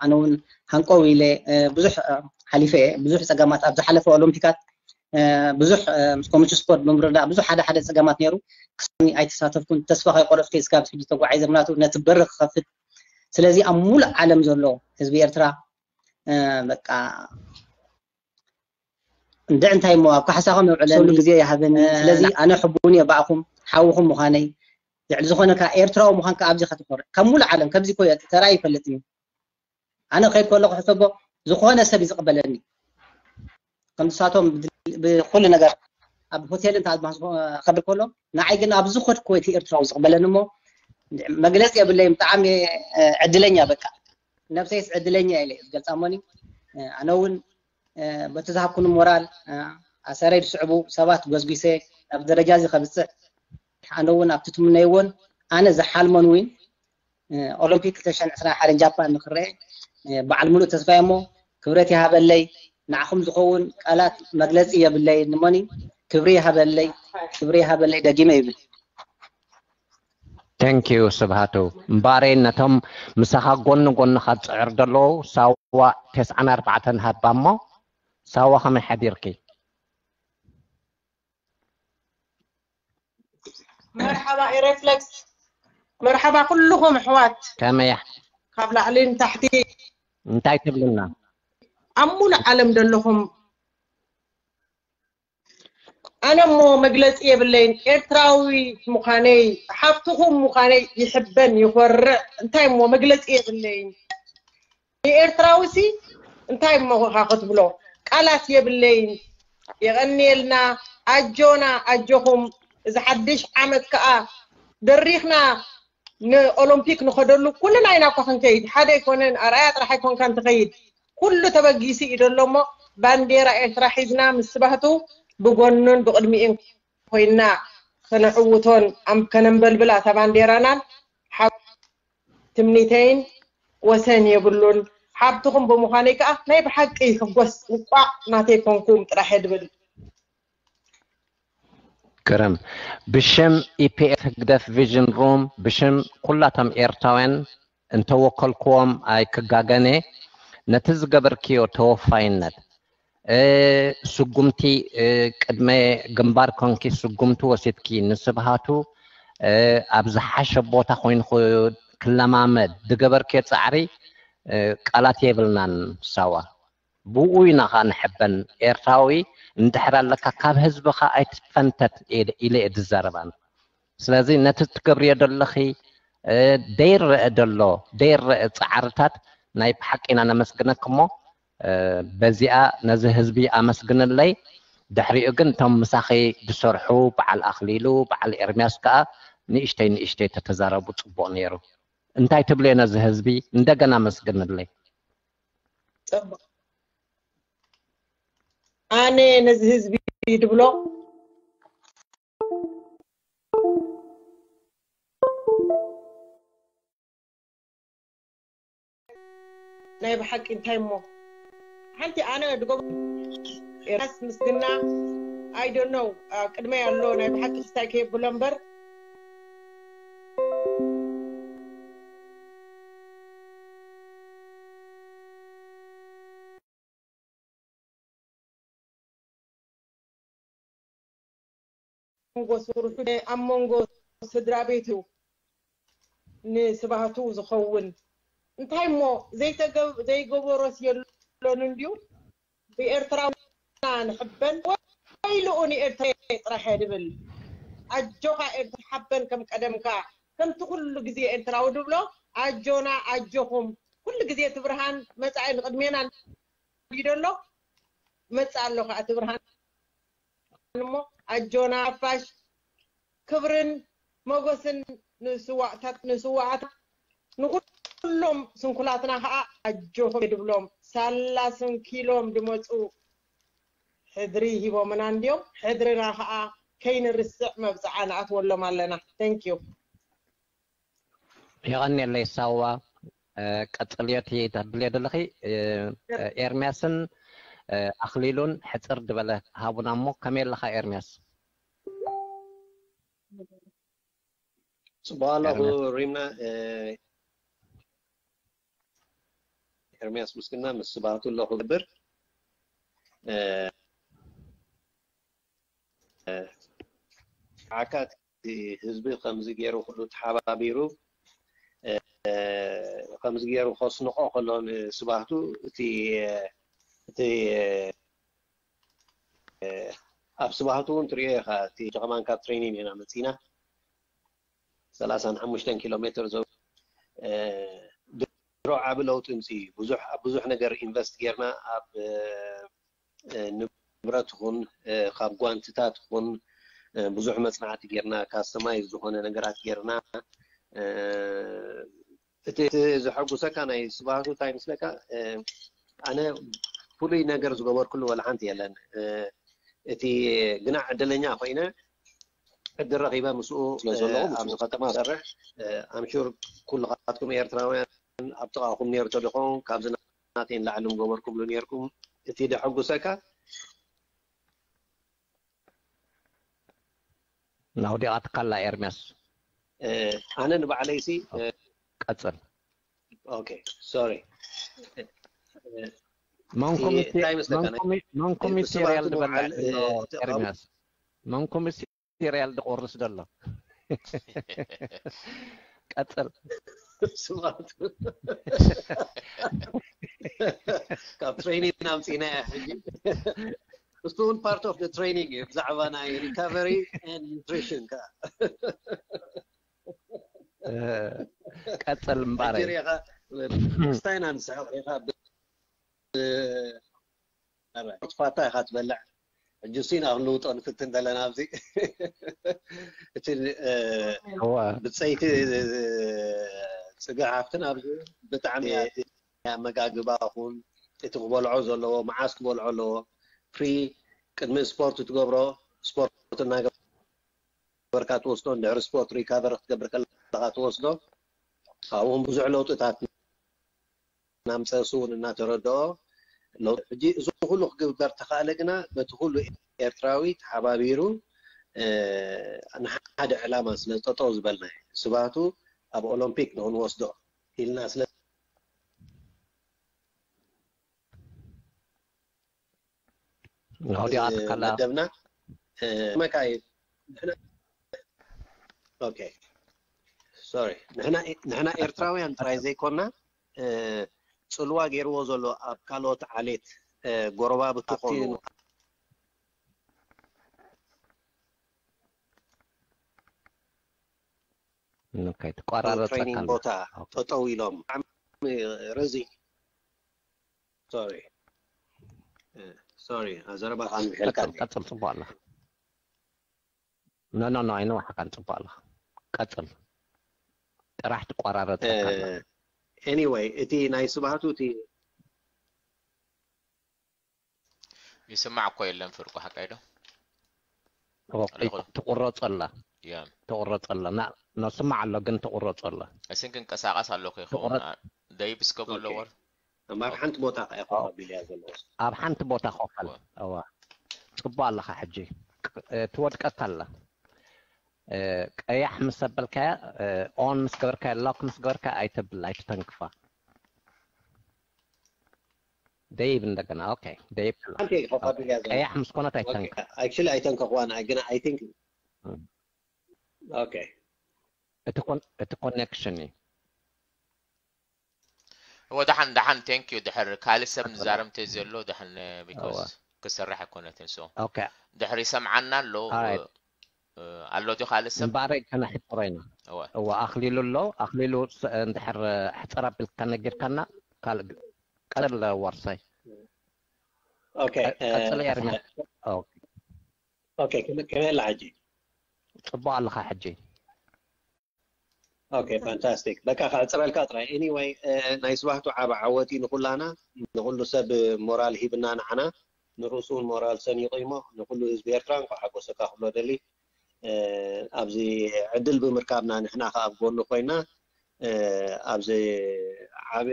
ኣነ እውን ሃንቆው ኢለ ብዙሕ ሓሊፈ እየ። ብዙሕ ፀገማት ኣብ ዝሓለፈ ኦሎምፒካት ብዙሕ ምስ ኮሚሽን ስፖርት ብምርዳእ ብዙሕ ሓደ ሓደ ፀገማት ነይሩ። ክሳኒ ኣይተሳተፍኩን። ተስፋ ከይቆረፅኩ እስካብ ሕጂ ተጓዒዘ ምክንያቱ ነቲ በሪ ክኸፍት። ስለዚ ኣብ ሙሉእ ዓለም ዘሎ ህዝቢ ኤርትራ በቃ እንደ እንታይ እሞ ኣብ ካሕሳኹም የውዕለኒ። ሰሉ ግዜ ይሃበኒ። ስለዚ ኣነ ሕቡን እየ ብኣኹም ሓውኹም ምዃነይ። ልዕሊ ዝኾነ ከኣ ኤርትራዊ ምዃንካ ኣብዚ ከተኮርዕ ካብ ሙሉእ ዓለም ከምዚ ኮ ተራይ ይፈልጥ እዩ። ኣነ ከይድ ከለኹ ሕሰቦ ዝኾነ ሰብ እዩ ዝቕበለኒ። ከም ንሳቶም ብኩሉ ነገር ኣብ ሆቴል እንተ ከብል ከሎ ንዓይ ግን ኣብዚ ኸድኩ እቲ ኤርትራዊ ዝቕበለኒ እሞ መግለፂ የብለይም። ብጣዕሚ ዕድለኛ በቃ ነብሰይስ ዕድለኛ ኢለ ዝገልፃ እሞኒ ኣነ እውን በቲ ዝሃብኩኒ ሞራል ኣሰረይ ዝስዕቡ ሰባት ጎዝጒሰ ናብ ደረጃ እዚ ከብፅሕ ኣነ እውን ኣብቲ ትምነይዎን ኣነ ዝሓልሞን እውን ኦሎምፒክ ክልተ ሽሕን ዕስራን ሓደን ጃፓን ንክረአ በዓል ሙሉእ ተስፋ እሞ ክብረት ይሃበለይ። ንዓኹም ዝኸውን ቃላት መግለፂ የብለይ። ንሞኒ ክብሪ ይሃበለይ፣ ክብሪ ይሃበለይ ደጊመ ይብል። Thank you ስብሃቱ። እምበኣረይ ነቶም ምሳኻ ጎኒ ጎንኻ ዝፅዕር ዘለዉ ሳዋ ተስዓን ኣርባዕተን ሃባ እሞ ሳዋ ከመይ ሓዲርኪ? መርሓባ ኤሬፍለክስ መርሓባ ኩልኹም ኣሕዋት ከመይ ካብ ላዕሊ ንታሕቲ እንታይ ትብልና? ኣብ ሙሉእ ዓለም ዘለኹም ኣነ እሞ መግለፂ የብለይን። ኤርትራዊ ምዃነይ ሓፍትኹም ምዃነይ ይሕበን ይኾርዕ። እንታይ እሞ መግለፂ የብለይን። ንኤርትራዊ ሲ እንታይ እሞ ኻ ክትብሎ ቃላት የብለይን። የቐንየልና ኣጆና ኣጆኹም እዚ ሓድሽ ዓመት ከኣ ደሪኽና ንኦሎምፒክ ንኸደሉ ኩልና ኢና እኳ ክንከይድ ሓደ ኣይኮነን ኣርኣያ ጥራሕ ኣይኮንካን ትኸይድ ኩሉ ተበጊሱ እዩ ደሎ እሞ ባንዴራ ኤርትራ ሒዝና ምስ ስባህቱ ብጎኑን ብቕድሚኡን ኮይንና ከነዕውቶን ከነንበልብላ እታ ባንዴራናን ትምኒተይን ወሰን የብሉን። ሓብትኹም ብምዃነይ ከኣ ናይ ብሓቂ ይሕጎስ። እንቋዕ ናተይ ኮንኩም ጥራሕ እየ ድብል። ግርም። ብሽም ኢፒኤፍ ህግደፍ ቪዥን ሩም ብሽም ኩላቶም ኤርትራውያን እንተወከልክዎም ኣይክጋገን እየ። ነቲ ዝገበርክዮ ተወፋይነት ስጉምቲ ቅድመ ግንባር ኮንኪ ስጉምቲ ወሲድኪ ንስብሃቱ ኣብ ዝሓሸ ቦታ ኮይኑ ክለማመድ ዝገበርክዮ ፃዕሪ ቃላት የብልናን። ሳዋ ብኡ ኢና ከዓ ንሕበን። ኤርትራዊ እንድሕር ኣለካ ካብ ህዝብኻ ኣይትፈንተት ኢለ እየ ዝዛረብ ኣነ። ስለዚ ነቲ ትገብርዮ ዘለኺ ደይረአ ዘሎ ደይረአ ፃዕርታት ናይ ብሓቂ ኢና ነመስግነኪ እሞ በዚኣ ነዚ ህዝቢ ኣመስግንለይ። ድሕሪኡ ግን እቶም ምሳኺ ዝሰርሑ በዓል ኣኽሊሉ በዓል ኤርምያስ ከዓ ንእሽተይ ንእሽተይ ተተዛረቡ ፅቡቕ ነይሩ። እንታይ ትብልዮ ነዚ ህዝቢ? እንደገና ኣመስግንለይ። ፅቡቕ ኣነ ነዚ ህዝቢ ድብሎ ናይ ብሓቂ እንታይ እሞ ሓንቲ ኣነ ድጎ ኤርትራስ ምስግና I don't know ቅድመይ ኣሎ ናይ ብሓቂ ክስታይ ከየብሎ እምበር መንጎ ስርሑ ኣብ መንጎ ስድራ ቤቱ ንስባህቱ ዝኸውን እንታይ እሞ ዘይተገብ ዘይገበሮስ የሎን እንድዩ ብኤርትራውና ንሕበን ወይልኡ ንኤርትራ ጥራሕ ድብል ኣጆኻ ኤርትራ ሓበን ከም ቀደምካ ከምቲ ኩሉ ግዜ ኤርትራዊ ድብሎ ኣጆና ኣጆኹም ኩሉ ግዜ እቲ ብርሃን መጻኢ ንቅድሜና ይደሎ መጻ ኣሎ ከዓ እቲ ብርሃን እሞ ኣጆና ሓፋሽ ክብርን ሞጎስን ንስዋእታት ንስዋኣት ንኩሎም ስንኩላትና ከዓ ኣጆኹም ድብሎም ሳላ ስንኪሎም ድመፁ ሕድሪ ሂቦምና እንድዮም ሕድርና ከዓ ከይንርስዕ መብፅዓ ንኣትወሎም ኣለና thank you የቐንየለይ ሳዋ ቀጽልዮ እቲ ተብልዮ ዘለኺ ኤርሚያስን ኣኽሊሉን ሕጽር ዝበለ ሃቡና እሞ ከመይ ኣለኻ ኤርሚያስ ጽቡቅ ኣለኹ ሪምና ኤርሚያስ ምስግና ምስ ስባቱ ኣለኹ ብር ዓካት ህዝቢ ከምዚ ገይሩ ኩሉ ተሓባቢሩ ከምዚ ገይሩ ከስንቆ ከሎ ንስባህቱ እቲ እቲ ኣብ ስባህቱ እውን ትሪኦ ኢኻ እቲ ጀኸማን ካብ ትሬኒን ኢና መፂና ሰላሳን ሓሙሽተን ኪሎ ሜትር ድሮ ዓቢ ለውጢ ምፅ ብዙሕ ኣብ ብዙሕ ነገር ኢንቨስት ጌርና ኣብ ንብረት ኹን ካብ ጓንትታት ኹን ብዙሕ መፅናዕቲ ጌርና ካስተማይዝ ዝኾነ ነገራት ጌርና እቲ ዘሐጉሰካ ናይ ስባቱ እንታይ ምስለካ ኣነ ፍሉይ ነገር ዝገበርኩሉ ወላ ሓንቲ የለን እቲ ግና ዕድለኛ ኮይነ ዕድል ረኺበ ምስኡ ኣብዚ ከተማ ሰርሕ ኣምሹር ኩልኻትኩም ኤርትራውያን ኣብ ጥቓኹም ነይሩ ተደኾን ካብዚ ናተይ ንላዕሊ ምገበርኩምሉ ነይርኩም እቲ ደሐጉሰካ ናውዲቓትካላ ኤርሚያስ ኣነ ንባዕለይሲ ቀፅል ኦኬ ሶሪ መንኩም ሲሪያል ዝበልዕ ኤርሚያስ መንኩም ሲሪያል ድቆርስ ዘሎ ቀፅል ስማቱ ካብ ትሬኒንግ ኣምፂና ሕጂ እሱ እውን ፓርት ኦፍ ትሬኒንግ እዩ ብዛዕባ ናይ ሪካቨሪ ኒትሪሽን ከዓ ቀፅል እምባረይ ክስታይና ንስሕቕ ኢኻ ፋታ ኢኻ ትበልዕ ሕጂ ሱ ኢና ክንልውጦ ንፍትን ዘለና ኣብዚ እቲ ብፀይቲ ፅግሕ ሃፍትን ኣብዚ ብጣዕሚ ኣመጋግባ ኹን እቲ ክበልዖ ዘለዎ መዓስ ክበልዖ ኣለዎ ፕሪ ቅድሚ ስፖርት ትገብሮ ስፖርት እናገበርካ ትወስዶ እንድሕሪ ስፖርት ሪካቨር ክትገብር ከለካ ትወስዶ ኣብኡም ብዙሕ ለውጥታት እናምፀ እሱ እውን እናተረድኦ ለውጢ ሕጂ እዚ ኩሉ ክግበር ተኻእለ ግና በቲ ኩሉ ኤርትራዊ ተሓባቢሩ ንሓደ ዕላማ ስለ ጠጠው ዝበልና ስባቱ ኣብ ኦሎምፒክ ንክንወስዶ ኢልና ስለ ናውዲኣ ትካላ መደብና መካይ ኦኬ ሶሪ ንሕና ኤርትራውያን ጥራይ ዘይኮና ጽልዋ ገይርዎ ዘሎ ኣብ ካልኦት ዓሌት፣ እ፣ ጎረባብቲ ኣብቲ ኮኑ ኦኬ፣ ትቆራረጸካ ትሬኒንግ ኣሎ። ቦታ ኦኬ። ጠጠው ኢሎም። ብጣዕሚ ረዚ ሶሪ፣ እ፣ ሶሪ፣ ኣዘረባ ከንብሐልካ ቀጽል፣ ቀጽል፣ ጽቡቕ ኣለኻ። ኖ፣ ኖ፣ ኖ፣ ኣይነዋሕካን፣ ጽቡቕ ኣለኻ። ቀጽል። ጥራሕ ትቆራረጸካ ኣሎ። ኤኒወይ፣ እቲ ናይ ስብሃቱ እቲ ይስማዕ እኮ የለን ፍርቁ፣ ሓቀይ ዶ? ኦኬ፣ ኣለኹ። ትቁረጾ ኣላ። ያ። ትቁረጾ ኣላ። ና-፣ ነስማዕ ኣሎ፣ ግን ትቁረጾ ኣላ። እስን ክንቀሳቀስ ኣለኩ ይኸውን። ትቁረጽ። አ-፣ ደይብ እስከ በሎ ኦኬ። ወር። እምበር ሓንቲ ቦታ ከ ኮፍ ኣቢልያ ዘለኹ። ኣብ ሓንቲ ቦታ ኮፍ በል። እወ። እዋ። ጽቡቕ ኣለኻ ሕጂ። ቅ-፣ እ፣ ትወድቀካ ኣላ። እ፣ ቀያሕ ምስ ኣበልካያ፣ እ፣ ኦን ምስ ገበርካያ፣ ሎክ ምስ ገበርካያ ኣይተብል፣ ኣይትተንክፋ። ደይብ እንደገና። ኦኬ። ደይብ ኣላ። ሓንቲ ኮፍ ኣቢልያ ዘለኹ። ቀያሕ ምስ ኮነት ኣይተንክ። ኣክቹሊ ኣይተንከኽዋን፣ ግን ኣይ ቲንክ እም። ኦኬ። እቲ ኮን-፣ እቲ ኮኔክሽን እዩ። እወ፣ ደሓን፣ ደሓን፣ ቴንክ ዩ። ድሕር ካልእ ሰብ ቀጽሎ። ንዛረብ እንተ ዘሎ ደሓን፣ ቢኮዝ እወ። ክሰርሕ ኣይኮነትን። ሶ ኦኬ። ድሕር ይሰምዓና ኣሎ። ኣራይት። እ፣ ኣሎ ድዩ ካልእ ሰብ? እምባረይ ከነሕጽሮ ኢና። እወ። እወ፣ ኣኽሊሉ ኣሎ። ኣኽሊሉ ስ-፣ እንድሕር ሕጽር ኣቢልካ ነጊርካና፣ ካልእ ግ-፣ ቀጽል ወርሳይ። ኦኬ። ቀ-፣ ቀጽል ኤርምያስ። ኦኬ። ኦኬ፣ ከመ-፣ ከመይ ኣላ ሕጂ? ጽቡቕ ኣለኻ ሕጂ። ኦኬ፣ ፋንታስቲክ። በቃ ከዕጽረልካ ጥራይ። ኤኒወይ፣ እ፣ ናይ ስባህቱ ዓቢ ዓወት እዩ ንኹላና፣ ንኹሉ ሰብ ሞራል ሂብና ንዓና፣ ንርእሱ እውን ሞራል ሰኒቑ እሞ፣ ንኹሉ ህዝቢ ኤርትራ እንኳዕ ሓጎሰካ ክብሎ ደሊ። እ፣ ኣብዚ ዕድል ብምርካብና ንሕና ከኣ ኣብ ጎኑ ኮይና፣ እ፣ ኣብዚ ዓቢ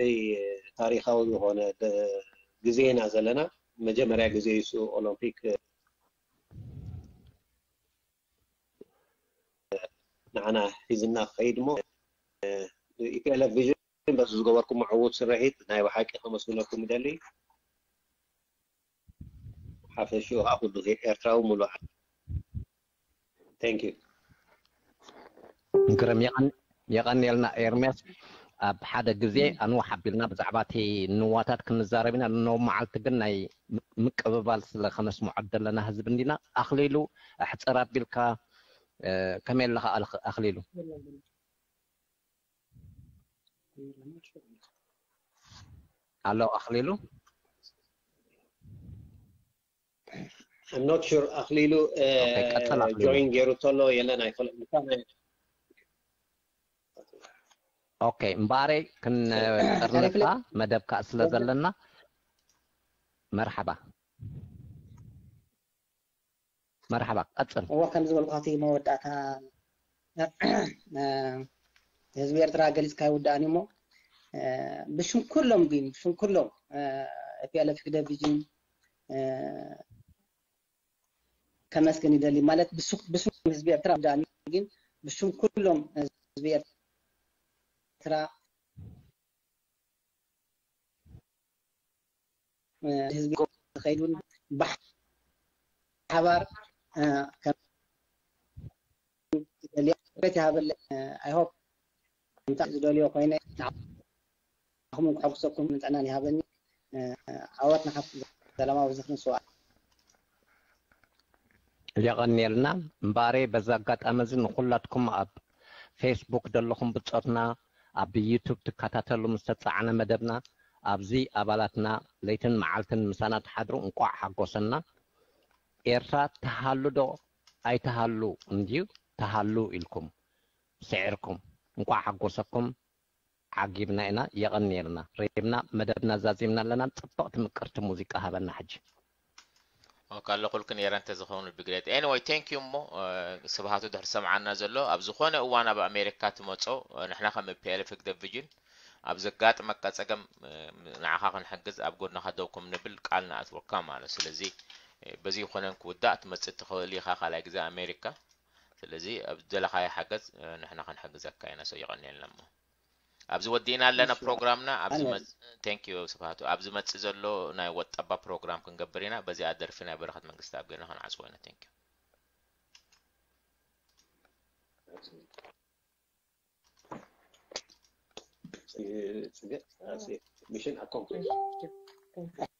ታሪኻዊ ዝኾነ ደ-፣ ግዜ ኢና ዘለና። መጀመርያ ግዜ እዩ እሱ ኦሎምፒክ ንዓና ሒዝና ክኸይድ እሞ፣ እ፣ ኢፒኤልኤፍ ቪዥን በዚ ዝገበርኩሞ ዕዉት ስርሒት ናይ ብሓቂ ከመስግነኩም ይደሊ። ሓፈሽኡ ከዓ ኩሉ ኤርትራዊ ሙሉእ ዓለም። Thank you። ግርም የቐን-፣ የቐንየልና ኤርምያስ። ኣብ ሓደ ግዜ ኣንዋሕ ኣቢልና ብዛዕባ እቲ ንዋታት ክንዛረብ ኢና። ኖ መዓልቲ ግን ናይ ም-፣ ምቅብባል ስለ ከነስምዖ ዘለና ህዝቢ እንዲና። ኣኽሊሉ ኣሕጽር ኣቢልካ፣ እ፣ ከመይ ኣለኻ ኣልኽ-፣ ኣኽሊሉ? ኣሎ ኣኽሊሉ? I'm not sure ኣኽሊሉ፣ እ፣ ኦኬ፣ ቀጽል ኣኽሊሉ። ጆይን ገይሩ ተሎ የለን ኣይፈልጥን። ኦኬ፣ እምበኣረይ ክንጥርነፍካ መደብካ ስለ ዘለና መርሓባ። መርሓባ፣ ቀጽል። እወ፣ ከም ዝበልኩ እቲ መወዳእታ፣ እ፣ ህዝቢ ኤርትራ ገሊጽካ ኣይውዳእን እዩ እሞ፣ እ፣ ብሽም ኩሎም ግን፣ ብሽም ኩሎም፣ እ፣ ቲ ፒ ኤል ኤፍ ህግደፍ ቪዥን፣ እ፣ ከመስግን ይደሊ። ማለት ብሱ-፣ ብሽም ህዝቢ ኤርትራ ኣይውዳእን እዩ፣ ግን ብሽም ኩሎም ህዝቢ ኤርትራ ህዝቢ ዝኸይዱን ብሓባር፣ እ፣ ከም ዝደልያ ቤት ይሃበለይ። እ፣ I hope እንታይ ዝደልዮ ኮይነ ንዓኹም ከሐጉሰኩም ጥዕናን ይሃበኒ። እ፣ ዓወት ንሓፋሽ። ሰላማዊ ዝኽርን ስውኣት። የቐንየልና። እምበኣረይ በዚ ኣጋጣሚ እዚ ንኹላትኩም ኣብ ፌስቡክ ዘለኹም ብጾትና፣ ኣብ ዩቱብ ትከታተሉ ምስ ተጻዕነ መደብና፣ ኣብዚ ኣባላትና ለይትን መዓልትን ምሳና ትሓድሩ እንቋዕ ሓጎሰና። ኤርትራ ትሃሉ ዶ ኣይትሃሉ እንድዩ፣ ትሃሉ ኢልኩም ስዒርኩም። እንቋዕ ሓጎሰኩም። ዓጊብና ኢና፣ የቐንየልና። ሬብና መደብና ዛዚምና ኣለና። ጽብቕቲ ምቅርቲ ሙዚቃ ሃበና ሕጂ። ኦኬ፣ ኣለኹልክን የረ እንተዝኸውን would be great። Anyway, thank you እሞ፣ እ፣ ስብሃቱ ድሕሪ ሰምዓና ዘሎ፣ ኣብ ዝኾነ እዋን ኣብ ኣሜሪካ ትመጾ፣ እ፣ ንሕና ከም ፒ ኤል ኤፍ ህግደፍ ቪዥን ኣብ ዘጋጥመካ ጸገም፣ እ፣ ንዓኻ ክንሕግዝ ኣብ ጎድንኻ ደው ከም ንብል ቃል ንኣትወካ ማለት። ስለዚ፣ እ፣ በዚ ይኾነን ክውዳእ ትመጽእ ትኽእል ኢኻ ካልኣይ ግዜ ኣሜሪካ። ስለዚ ኣብ ዝደለኻዮ ሓገዝ፣ እ፣ ንሕና ክንሕግዘካ ኢና። So የቐንየልና እሞ። ኣብዚ ወዲእና ኣለና እሺ። ፕሮግራምና። ኣብዚ ኣነ መጽ-፣ thank you ስብሃቱ። ኣብዚ መጽእ ዘሎ ናይ ወጣባ ፕሮግራም ክንገብር ኢና። በዚኣ ደርፊ ናይ በረኸት መንግስትኣብ ገይርና ክንዓጽዎ ኢና። Thank you። Mission accomplished. Thank you. Thank you.